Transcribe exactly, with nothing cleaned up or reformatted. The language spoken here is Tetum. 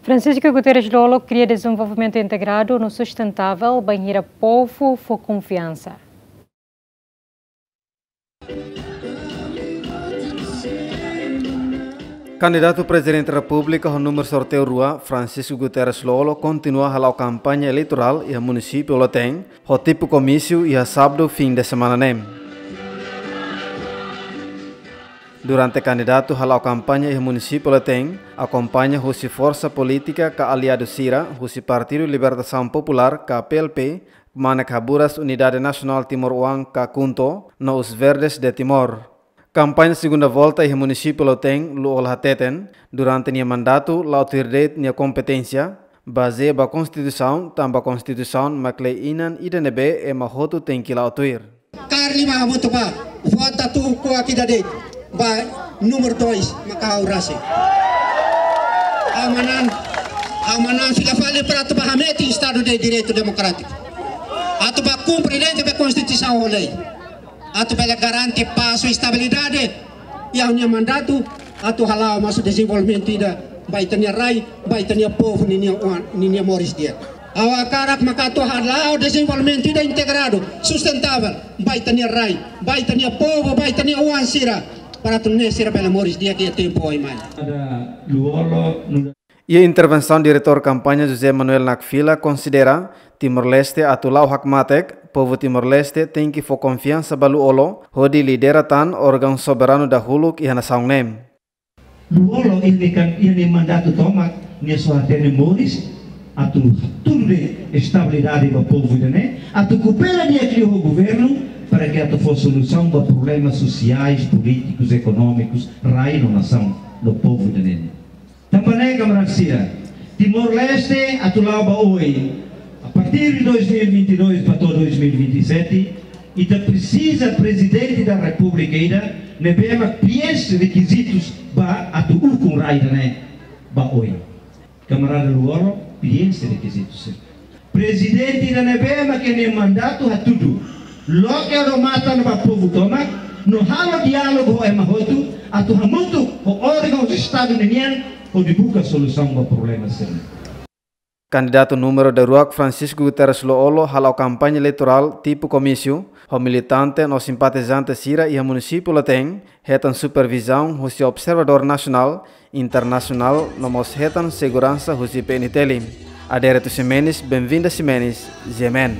Francisco Guterres Lú-Olo kria dezenvolvimentu integradu no sustentável bainhira povu fó konfiansa. Kandidatu Prezidente Repúblika ho númeru sorteiu rua, Francisco Guterres Lú-Olo, kontinua hala'o kampaña eleitorál iha munisípiu Lautein, ho tipu komísiu iha sábadu fin de semana ne'e. Durante kandidatu hala'o kampaña iha munisípiu Lautein, akompaña husi forsa polítika ka aliadu sira husi Partidu Libertasaun Populár ka P L P, Manek Haburas Unidade Nasionál Timor Oan ka KHUNTO, no Os Verdes de Timor. Kampaña segunda volta iha munisípiu Lautein, Lú-Olo hateten, durante nia mandatu la'o tuir de'it nia kompeténsia, bazeia ba Konstituisaun, tanba Konstituisaun mak lei inan ida ne'ebé ema hotu tenke la'o tuir. Karik imi hamutuk bá vota tuur kuak ida de'it, ba númeru dois, maka ha'u rasik. Ha'u manán, ha'u manán fila fali para atu bá hametin Estadu de Direitu Demokrátiku. Atu bá kumpre de'it ba Konstituisaun ho lei. Atu bele garante pás no estabilidade iha ha'u-nia mandatu, atu hala'o mós dezenvolvimentu ida ba ita-nia rai, ba ita-nia povu ninia oan, ninia moris di'ak. Ha'u hakarak maka atu hala'o dezenvolvimentu ida integradu, sustentável, ba ita-nia rai, ba ita-nia povu, ba ita-nia oan sira, para atu nune'e sira bele moris di'ak iha tempu oin mai. Ada Lú-Olo, nu'udar Iha intervensaun Diretór Kampaña José Manuel Nakfila konsidera, Timor-Leste atu la'o hakmatek, povu Timor-Leste tenke fó konfiansa ba Lú-Olo, hodi lidera tan órgaun soberanu dahuluk iha nasaun ne'e. Lú-Olo iha nia kan, iha nia mandatu tomak, nia só hatene moris, atu hatudu de'it estabilidade ba povu ida-ne'e, atu koopera di'ak liu ho governu, para ke atu fó solusaun ba problemas sosiais, polítikus, ekonómikus, rai no nasaun, no povu ida-ne'e. Tanba ne'e kamarada sira, Timor-Leste atu la'o ba oin, a partir de dois mil e vinte e dois ba to'o dois mil e vinte e sete, ita presiza Prezidente da Repúblika ida ne'ebé mak preenxe rekizitus ba atu ukun rai ida-ne'e ba oin. Kamarada Lú-Olo preenxe rekizitus sira. Prezidente ida ne'ebé mak nia mandatu hatudu, loke odamatan ba povu tomak, no halo diálogu ho ema hotu, atu hamutuk ho órgaun Estadu ninian, hodi buka solusaun ba problema sira-ne'e. Kandidatu númeru daruak Francisco Guterres Lú-Olo hala'o kampaña eleitorál tipu komísiu, ho militante no simpatizante sira iha munisípiu Lautein, hetan supervizaun husi observadór nasionál, internasionál, no mós hetan seguransa husi P N T L. Adérito Ximenes, Benvinda Ximenes, G M N.